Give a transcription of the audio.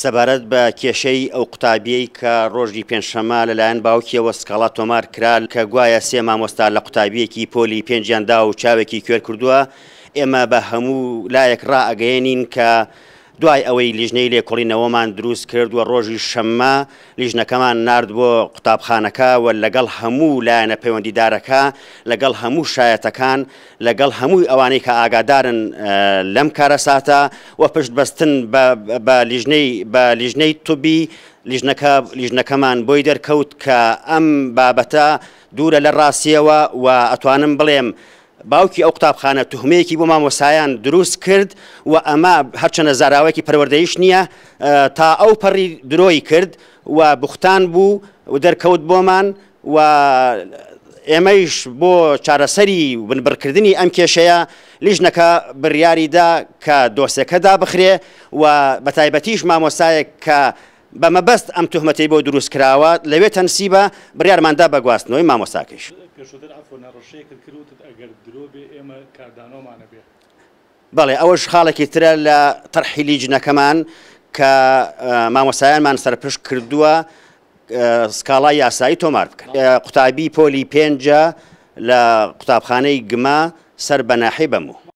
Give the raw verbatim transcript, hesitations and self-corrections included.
سەبارەت بە کێشەی ئەو قوتابیەی کە ڕۆژی پێنجشەممە لەلایەن باوکیەوە سکاڵا تۆمار کرا کە گوایە سێ مامۆستا لە قوتابیەکی پۆلی پێنجیان دا و چاوێکی کوێر کردووە، ئێمە بە هەموو لایەک ڕائەگەیەنین کە دوای ئەوەی لیژنەی لێکۆڵینەوەمان دروست کرد و ڕۆژی شەممە لیژنەکەمان نارد بۆ قوتابخانەکە و لەگەڵ هەموو لایەنە پەیوەندیدارەکە، لەگەڵ هەموو شایەتەکان، لەگەڵ هەمووی ئەوانەی کە ئاگادارن لەم کارەساتە و پشت بەستن بە لیژنەی بە لیژنەی طبی، لیژنەکە لیژنەکەمان بۆی دەرکەوت کە ئەم بابەتە دوورە لە ڕاستیەوە و ئەتوانم بڵێم باوکی ئەو قوتابخانە تهمەیەکی بۆ مامۆسایان دروست کرد و ئەمە هەرچەنە زاراوەیەکی پەروەردەیش نییە، تا ئەو پەڕی درۆی کرد و بوختان بوو و دەرکەوت بۆمان و ئێمەیش بۆ چارەسەری و بنبڕکردنی ئەم کێشەیە لیژنەکە بڕیاریدا کە دۆسێکە دابخرێ و بە تایبەتیش مامۆسایەک کە بە مەبەست ئەم تهمەتەی بۆ دروست کراوە لەوێ تەنسیبە، بڕیارماندا بە گواستنەوەی مامۆساکەیش. پێشووتر عەفوەن هەڕەشەیەکت کرد وتت ئەگەر درۆ بێ ئێمە کاردانەوەمانە بێ. بەڵێ، ئەوەش خاڵێکی ترە لە تەرحی لیژنەکەمان کە مامۆسایانمان سەرپشک کردووە سکاڵای یاسایی تۆمار بکەن. قوتابی پۆلی پێنجە لە قوتابخانەی گمە سەر بە ناحیەی بەمۆ.